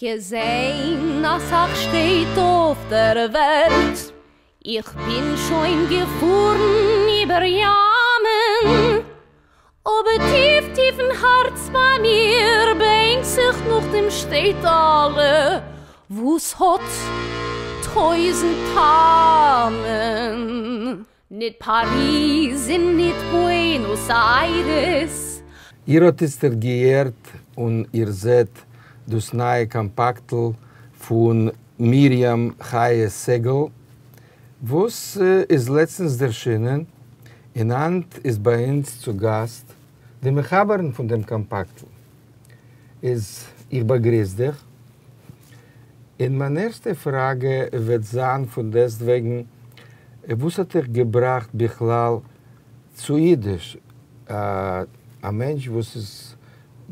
געזען אסאך שטעט אויף דער וועלט, איך בין שוין געפארן איבער ימ'ען, אבער טיף טיף אין הארץ ביי מיר בענקט זיך נאך דעם שטעטעלע וואס האט טויזנט טעמען. ניט פאריז און ניט בוענאס איירעס. איר האט איצטערט געהערט און איר זעט דאס נייע קאמפאקטל פון מרים חיה סגל וואס איז לעצטנס ערשינען, און היינט איז ביי אונז צו גאסט די מחברין פון דעם קאמפאקטל. איז איך באגריס דיך, און מיין ערשטע פראגע וועט זיין פון דעסטוועגן, וואס האט דיך געבראכט בכלל צו אידיש? א מענטש וואס איז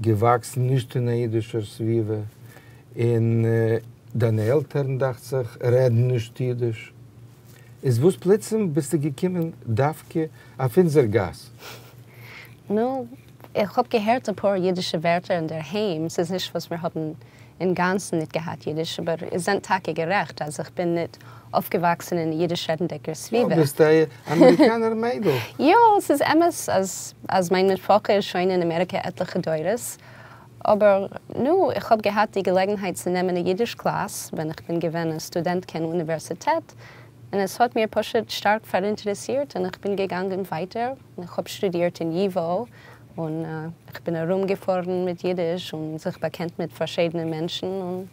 געוואקסן נישט אין א אידישער סביבה, און דיינע עלטערן דאכט זיך רעדן נישט אידיש, איז וואס פלוצים ביסטו געקומען דווקא אויף אונזער גאס? נו, איך האב געהערט אפאר אידישע ווערטער אינדערהיים, ס'איז נישט וואס מיר האבן אינגאנצן ניט געהאט אידיש, אבער איר זענט טאקע גערעכט אז איך בין ניט אויפגעוואקסן אין אידיש רעדנדיקער סביבה. יא, ביסט א אמעריקאנער מיידל. יא, ס'איז אמת אז אז מיין משפחה איז שוין אין אמעריקע עטליכע דורות, אבער נו, איך האב געהאט די געלעגנהייט צו נעמען א אידיש קלאס ווען איך בין געווען א סטודענטקע אין אוניווערסיטעט, און עס האט מיר פשוט שטארק פאראינטערעסירט און איך בין געגאנגען ווייטער, און איך האב שטודירט אין ייוואו, און איך בין ארומגעפארן מיט אידיש און זיך באקענט מיט פארשידענע מענטשן און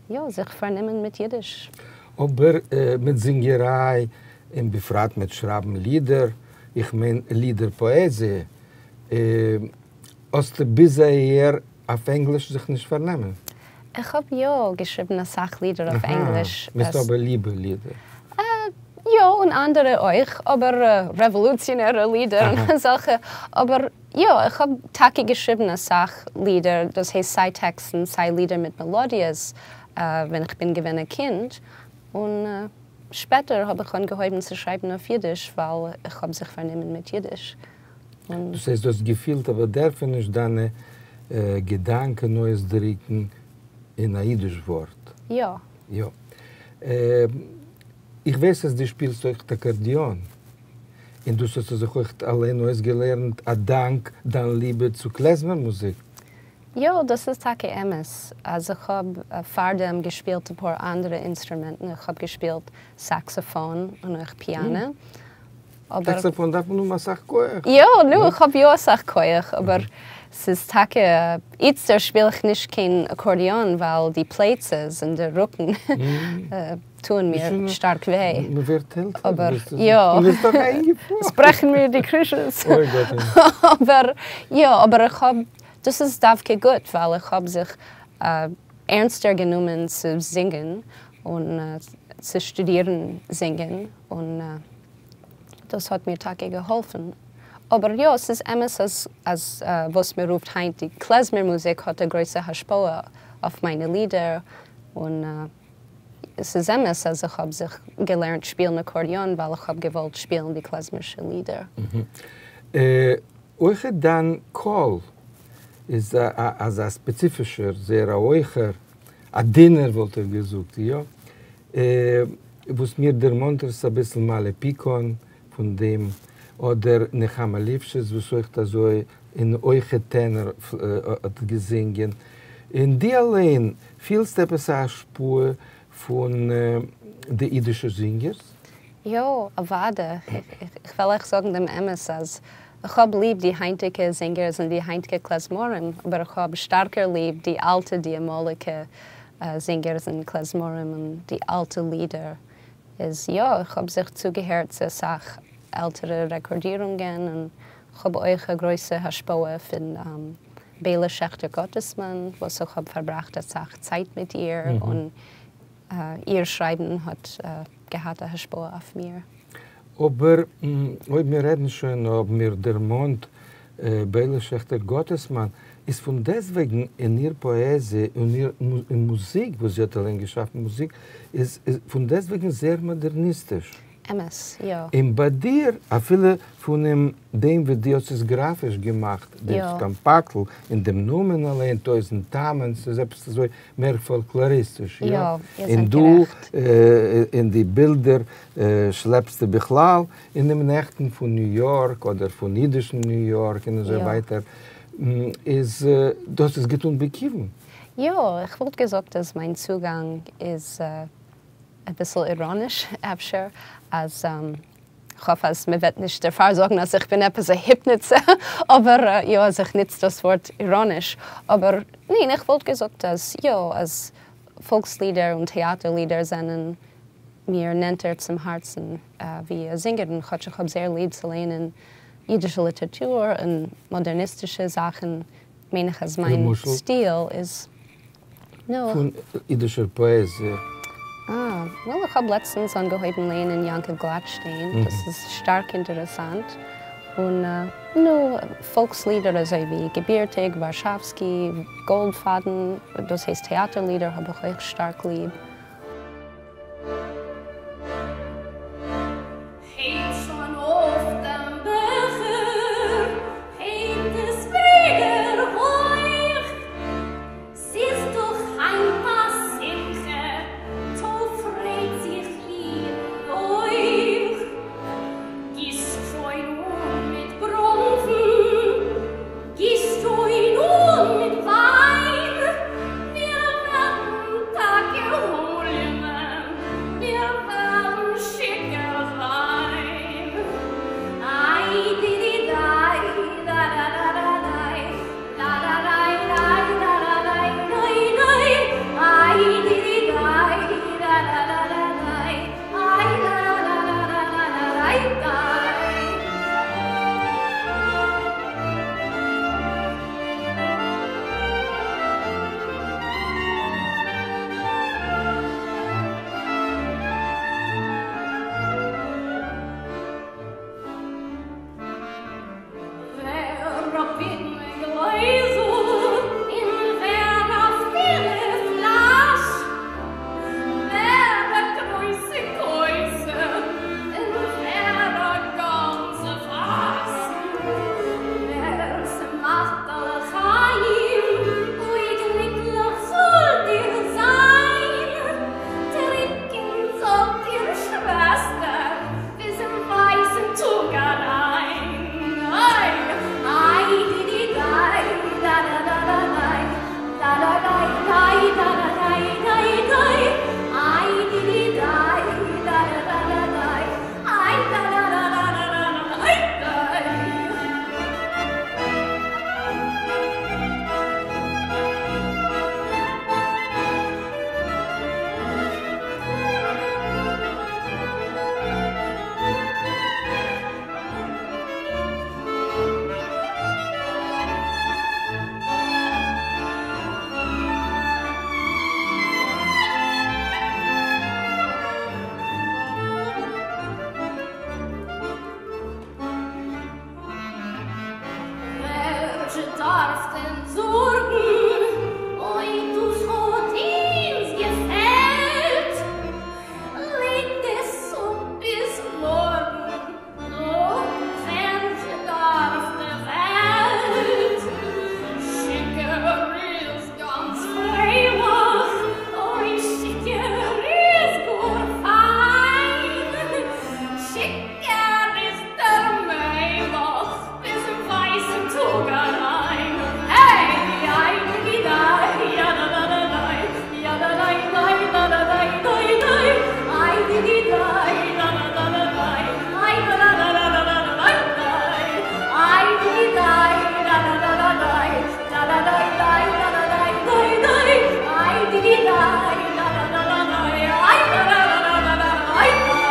יא, זיך פארנומען מיט אידיש. אבער מיט זינגעריי און בפרט מיט שרייבן לידער, איך מיין לידער פאעזיע, האסטו ביז אהער אויף ענגליש זיך נישט פארנומען? איך האב יא געשריבן אסאך לידער אויף ענגליש. אהא, מסתמא ליבע לידער. יא, און אנדערע אויך, אבער רעוואלוציאנערע לידער און אזעלכע, אבער יא, איך האב טאקע געשריבן אסאך לידער, דאס הייסט סיי טעקסטן סיי לידער מיט מעלאדיעס, ווען איך בין געווען א קינד, און שפעטער האב איך אנגעהויבן צו שרייבן אויף אידיש ווייל איך האב זיך פארנומען מיט אידיש. דאס הייסט דו האסט געפילט א באדערפעניש דיינע געדאנקען אויסדריקן אין א אידיש ווארט? יא. יא. איך ווייס אז דו שפילסט אויך אקארדיאן, און דאס האסטו זיך אויך אליין אויסגעלערנט א דאנק דיין ליבע צו קלעזמער מוזיק. יא, דאס איז טאקע אמת אז איך האב פארדעם געשפילט אפאר אנדערע אינסטרומענטן, איך האב געשפילט סאקסאפאן און אויך פיאנע, אבער. סאקסאפאן דארף מען האבן אסאך כח. יא, נו, איך האב יא אסאך כח, אבער ס'איז טאקע, איצטער שפיל איך נישט קיין אקארדיאן ווייל די פלייצעס און די רוקן טוען מיר שטארק וויי. מ'ווערט עלטער. אבער יא. עס ברעכן מיר די קרישעס. אוי גאט. אבער יא, אבער איך האב, דאס איז דווקא גוט ווייל איך האב זיך ערנסטער גענומען צו זינגען און צו שטודירן זינגען און. דאס האט מיר טאקע געהאלפן. אבער יא, ס'איז אמת אז אז וואס מען רופט היינט די קלעזמער מוזיק האט א גרויסע השפעה אויף מיינע לידער, און ס'איז אמת אז איך האב זיך געלערנט שפילן אקארדיאן ווייל איך האב געוואלט שפילן די קלעזמערשע לידער. אויך דיין קול איז אזא ספעציפישער, זייער א הויכער, א דינער וואלט איך געזאגט, יא? וואס מיר דערמאנט עס אביסל מאלי פיקאן פון דעם, אדער נחמה ליפשיץ וואס אויכט אזוי אין הויכע טענער האט געזינגען, און דו אליין פילסט עפעס א השפעה פון די אידישע זינגערס? יא, אוואדע, איך וועל אייך זאגן דעם אמת אז איך האב ליב די היינטיגע זינגערס און די היינטיגע קלעזמארים, אבער איך האב שטארקער ליב די אלטע די אמאליגע זינגערס און קלעזמארים און די אלטע לידער איז יא איך האב זיך צוגעהערט צו אסאך עלטערע רעקארדירונגען און כ'האב אויך א גרויסע השפעה פון ביילע שעכטער גאטעסמאן וואס איך האב פארבראכט אסאך צייט מיט איר און איר שרייבן האט געהאט א השפעה אויף מיר. אבער אויב מיר רעדן שוין האבן מיר דערמאנט ביילע שעכטער גאטעסמאן, איז פון דעסטוועגן אין איר פאעזיע און איר מוזיק וואס זי האט אליין געשאפן מוזיק איז פון דעסטוועגן זייער מאדערניסטיש. אמת, יא. און ביי דיר, אפילו פונעם דעם ווי דו האסט עס גראפיש געמאכט, דאס קאמפאקטל, און דעם נאמען אליין, טויזנט טעמים, ס'איז עפעס אזוי מער פאלקלאריסטיש, יא? יא, איר און זענט דא גערעכט. אין די בילדער שלעפסטו בכלל אינעם נעכטן פון ניו יארק אדער פון אידישן ניו יארק און אזוי ווייטער, איז דאס איז געטון בכיוון. יא, איך וואלט געזאגט אז מיין צוגאנג איז אביסל איראניש אפשר, אז כ'האף אז מ'וועט נישט דערפאר זאגן אז איך בין עפעס א היפניצע, אבער יא אז איך נוץ דאס ווארט איראניש, אבער ניין איך וואלט געזאגט אז יא אז פאלקס לידער און טעאטער לידער זענען מיר נענטער צום הארצן ווי זינגערן, כאטש איך האב זייער ליב צו לייענען אידישע ליטערטור און מאדערניסטישע זאכן, מיין איך אז מיין למשל? סטיל איז נו. פון אידישער פאעזיע. אה, well איך האב לעצטנס אנגעהויבן לייענען יעקב גלאטשטיין, דאס איז שטארק אינטערעסאנט, און נו, פאלקס לידער אזוי ווי געבירטיג, ווארשאווסקי, גאלדפאדן, דאס הייסט טעאטער לידער האב איך אויך שטארק ליב. הייבט שוין אויף דעם בעכער, הייבט עס ווידער הויך, ס'איז דאך היינט א שמחה, טא פרייט זיך איר אויך. גיסט שוין אן מיט בראנפן, גיסט שוין אן מיט וויין, מיר וועלן טאקע הוליענען, מיר וועלן שיכור זיין. איי די די דיי, דא דא דא דא דיי, דא דא דיי דיי דא דא דיי דיי דיי, איי די די דיי, דא דא דא דא דיי, איי דא דא דא דא דא דא דיי דיי. ווער אויף פידנע גלעזל און ווער אויף פילע פלאש, ווער א גרויסע כוסע און ווער א גאנצע פאס, ווער ס'מאכט א לחיים, אוי גליקליך זאלט איר זיין, טרינקען זאלט איר שוועסטער ביזן ווייסן טאג אריין. איי איי די די דיי דא דא דא דא דיי דא דא דיי דיי דא דא דיי דיי דיי איי די די דיי דא דא דא דא דיי איי דא דא דא דא דא דא דיי דיי. ווער זשע דארף דען זארגן אויב דאס האט אונז געפעלט? לייגט עס אפ ביז מארגן, נו, ווער זשע דארף די וועלט? שיכור איז גאנץ פרייליך, אוי שיכור איז גאר פיין, שיכור איז דער מלך ביזן ווייסן טאג אריין, העי, איי די דיי, יא דא דא דא דיי, יא דא דיי דיי דא דא דיי דיי דיי, איי די די דיי, דא דא דא דא דיי, איי דא דא דא דא דא דא דיי דיי, איי די די דיי, דא דא דא דא דיי, דא דא דיי דיי דא דא דיי דיי דיי, איי די די דיי, דא דא דא דא דיי, איי דא דא דא דא דא דיי דיי.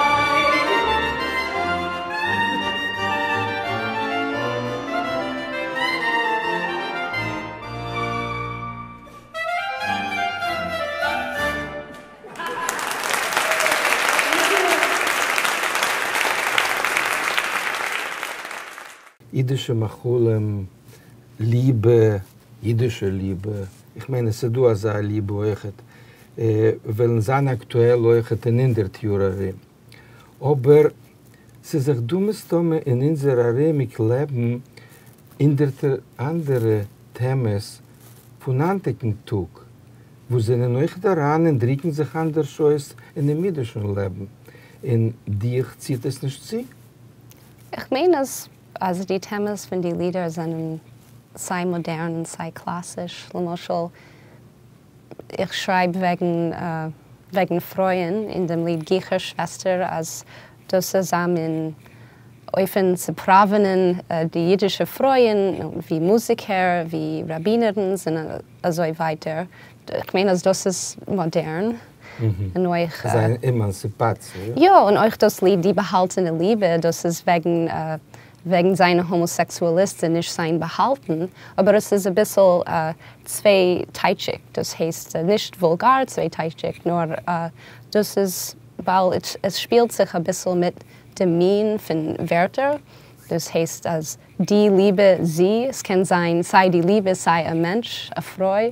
אידישע מאכלים, ליבע, אידישע ליבע, איך מיין עס איז דא אזא ליבע אויכעט, וועלן זיין אקטועל אויכעט אין הונדערט יאר ארום. אבער ס'איז דאך דא מסתמא אין אונזער ארומיג לעבן הונדערטער אנדערע טעמעס פון היינטיגן טאג וואס זענען אויכעט אריין און דריקן זיך אנדערש אויס אינעם אידישן לעבן, און דיך ציט עס נישט צו? איך מיין אז אז די טעמעס פון די לידער זענען סיי מאדערן און סיי קלאסיש, למשל איך שרייב וועגן וועגן פרויען אין דעם ליד גיכער שוועסטער אז דאס איז א מין אופן צו פראווענען די אידישע פרויען ווי מוזיקער, ווי ראבינערנס און אזוי ווייטער, איך מיין אז דאס איז מאדערן און אויך. ס'איז אן עמאנסיפאציע. יא, און אויך דאס ליד די באהאלטענע ליבע, דאס איז וועגן וועגן זיין א האמאסעקסואליסט און נישט זיין באהאלטן, אבער עס איז אביסל צווייטייטשיג, דאס הייסט נישט וואולגאר צווייטייטשיג, נאר דאס איז ווייל עס שפילט זיך אביסל מיט דעם מין פון ווערטער, דאס הייסט אז די ליבע זי, עס קען זיין סיי די ליבע סיי א מענטש, א פרוי,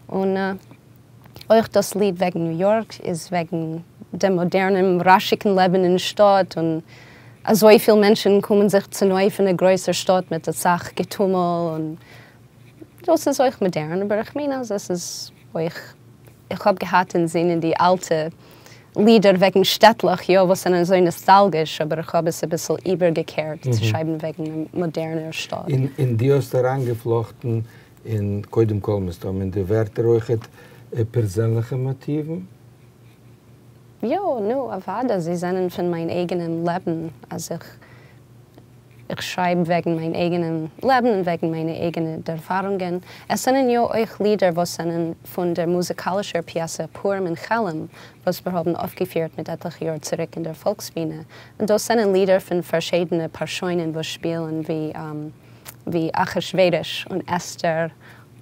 און אויך דאס ליד וועגן ניו יארק איז וועגן דעם מאדערנעם רעש'יגן לעבן אין שטאט, און אזויפיל מענטשן קומען זיך צונויף אין א גרויסער שטאט מיט אסאך געטומל, און דאס איז אויך מאדערן, אבער איך מיין אז עס איז אויך, איך האב געהאט אין זינען די אלטע לידער וועגן שטעטלעך, יא, וואס זענען אזוי נאסטאלגיש, אבער איך האב עס אביסל איבערגעקערט צו שרייבן וועגן א מאדערנער שטאט. און דו האסט אריינגעפלאכטן און קודם כל מסתמא אין די ווערטער אויכעט פערזענליכע מאטיוון. יא, נו, אוודאי, זיי זענען פון מיין אייגענעם לעבן, אז איך איך שרייב וועגן מיין אייגענעם לעבן און וועגן מיינע אייגענע דערפארונגען. עס זענען יא אויך לידער וואס זענען פון דער מוזיקאלישער פיעסע פורים אין כעלם, וואס מיר האבן אויפגעפירט מיט עטליכע יאר צוריק אין דער פאלקסבינע, און דאס זענען לידער פון פארשיידענע פארשוינען וואס שפילן ווי ווי אחשוורוש און אסתר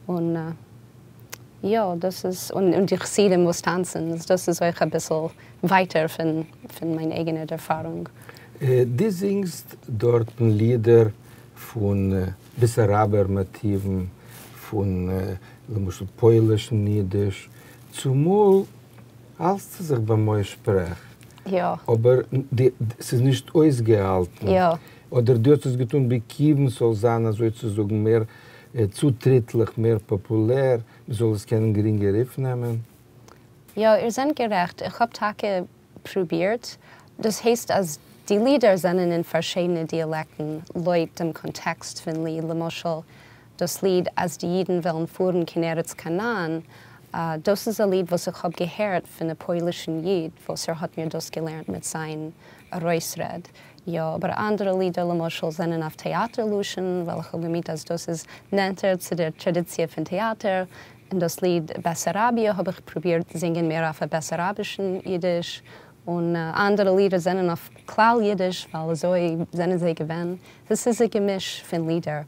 און יא דאס איז און די חסידים וואס טאנצן דאס איז אויך אביסל ווייטער פון פון מיין אייגענע ערפארונג. דו זינגסט דארטן לידער פון בעסאראבער מאטיוון, פון למשל פוילישן אידיש, צומאל האלטסטו זיך ביים אויסשפרעך, אבער ס'איז נישט אויסגעהאלטן. אדער דו האסט עס געטון בכיוון ס'זאל זיין אזוי צו זאגן מער צוטריטליך, מער פאפולער, מ'זאל עס קענען גרינגער אויפנעמען? יא, איר זענט גערעכט, איך האב טאקע פרובירט, דאס הייסט אז די לידער זענען אין פארשידענע דיאלעקטן לויט דעם קאנטעקסט פון ליד, למשל דאס ליד אז די אידן וועלן פארן קיין ארץ כנען, דאס איז א ליד וואס איך האב געהערט פון א פוילישן איד וואס ער האט מיר דאס געלערנט מיט זיין ארויסרעד, יא, אבער אנדערע לידער למשל זענען אויף טעאטער לשון, ווייל איך האב געמיינט אז דאס איז נענטער צו דער טראדיציע פון טעאטער, און דאס ליד בעסאראביע האב איך פרובירט זינגען מער אויף א בעסאראבישן אידיש, און אנדערע לידער זענען אויף כלל אידיש ווייל אזוי זענען זיי געווען, דאס איז א געמיש פון לידער.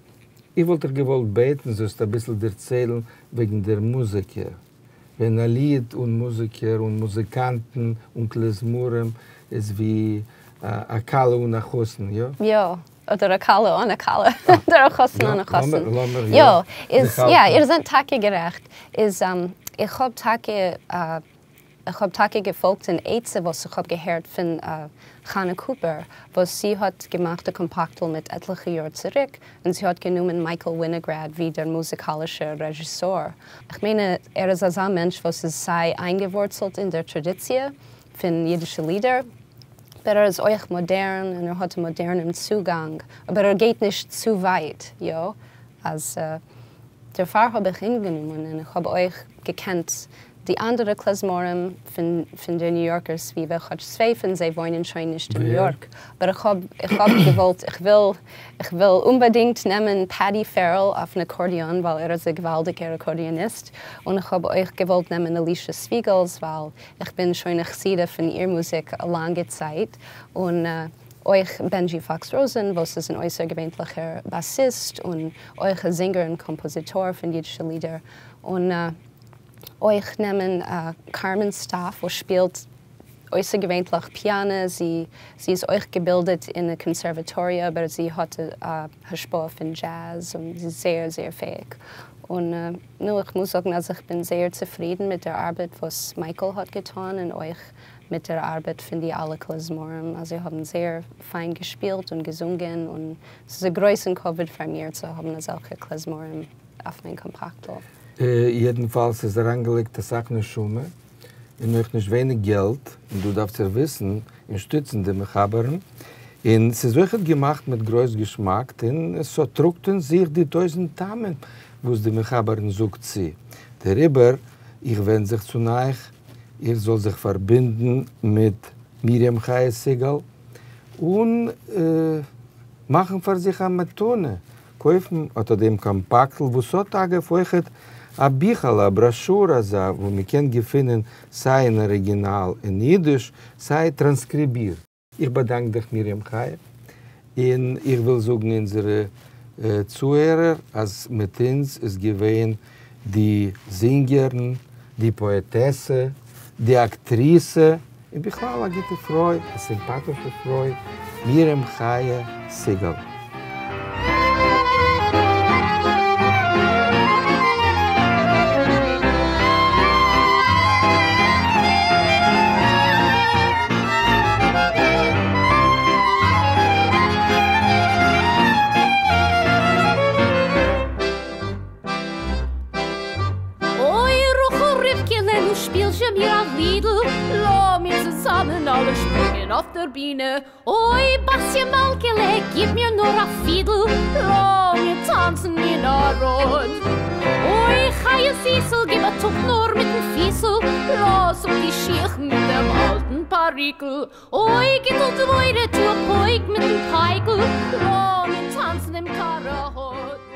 איך וואלט דיך געוואלט בעטן זאלסט אביסל דערציילן וועגן דער מוזיקער, ווען א ליד אן מוזיקער אן מוזיקאנטן אן כלי זמרים איז ווי א כלה אן א חתן, יא? יא, אדער א כלה אן א כלה, אדער א חתן אן א חתן. לאמיר יא, איז יא, איר זענט טאקע גערעכט, איז איך האב טאקע איך האב טאקע געפאלגט אן עצה וואס איך האב געהערט פון חנה קופער וואס זי האט געמאכט א קאמפאקטל מיט עטליכע יאר צוריק און זי האט גענומען מייקל ווינעגראד ווי דער מוזיקאלישער רעזשיסאר. איך מיין ער איז אזא מענטש וואס איז סיי איינגעווארצלט אין דער טראדיציע פון אידישע לידער אבער ער איז אויך מאדערן און ער האט א מאדערנעם צוגאנג אבער ער גייט נישט צו ווייט יא אז דערפאר האב איך אים גענומען און איך האב אויך געקענט די אנדערע כלי זמרים פון פון דער ניו יארקער סביבה, כאטש צוויי פון זיי וואוינען שוין נישט אין ניו יארק, אבער איך האב איך האב געוואלט איך וויל איך וויל אומבאדינגט נעמען פעטי פערעל אויפן אקארדיאן ווייל ער איז א געוואלדיגער אקארדיאניסט, און איך האב אויך געוואלט נעמען אלישע ספיגעלס ווייל איך בין שוין א חסידה פון איר מוזיק א לאנגע צייט, און אויך בענדזשי פאקס ראזען וואס איז אן אויסערגעווענטליכער באסיסט און אויך א זינגער און קאמפאזיטאר פון אידישע לידער, און אויך נעמען קארמען סטאף וואס שפילט אויסערגעווענטליך פיאנע, זי זי איז אויך געבילדעט אין די קאנסערוואטאריע אבער זי האט א השפעה פון דזשעז און זי איז זייער זייער פעאיג, און נו איך מוז זאגן אז איך בין זייער צופרידן מיט דער ארבעט וואס מייקל האט געטאן און אויך מיט דער ארבעט פון די אלע כלזמרים, אז זיי האבן זייער פיין געשפילט און געזונגען, און ס'איז א גרויסן כבוד פאר מיר צו האבן אזעלכע כלזמרים אויף מיין קאמפאקטל. יעדנפאלס איז אריינגעלייגט אסאך נשמה און אויך נישט ווייניג געלט, און דא דארפט איר וויסן און שטיצן די מחברים, און ס'איז אויכעט געמאכט מיט גרויס געשמאק, און ס'טראגט אין זיך די טויזנט טעמים וואס די מחברין זאגט צו, דעריבער איך ווענד זיך צו אייך איר זאלט זיך פארבינדן מיט מרים חיה סיגאל און מאכן פאר זיך א מתנה, קויפן אט א דעם קאמפאקטל וואס האט אגב אויכעט א ביכעלע, א בראשור אזא, וואו מען קען געפינען סיי אין אריגינאל אין אידיש, סיי טראנסקריבירט. איך באדאנק דיך מרים חיה, און איך וויל זאגן אונזערע צוהערער אז מיט אונז איז געווען די זינגערין, די פאעטעסע, די אקטריסע, און בכלל א גוטע פרוי, א סימפאטישע פרוי, מרים חיה סיגאל. אוי רחל רבקה'לע נו שפיל זשע מיר א לידל, לאמיר צוזאמען אלע שפרינגען אויף דער בינע, אוי בתיה מלכה'לע גיב מיר נאר א פידל, לאמיר טאנצן אין א ראד. אוי חיה זיסל גיב א טופ נאר מיטן פיסל, לאז אפ די שיך מיט דעם אלטן פאריקל, אוי גיטל דבורה טו א פויק מיטן פייקל, לאמיר טאנצן דעם קאראהאד.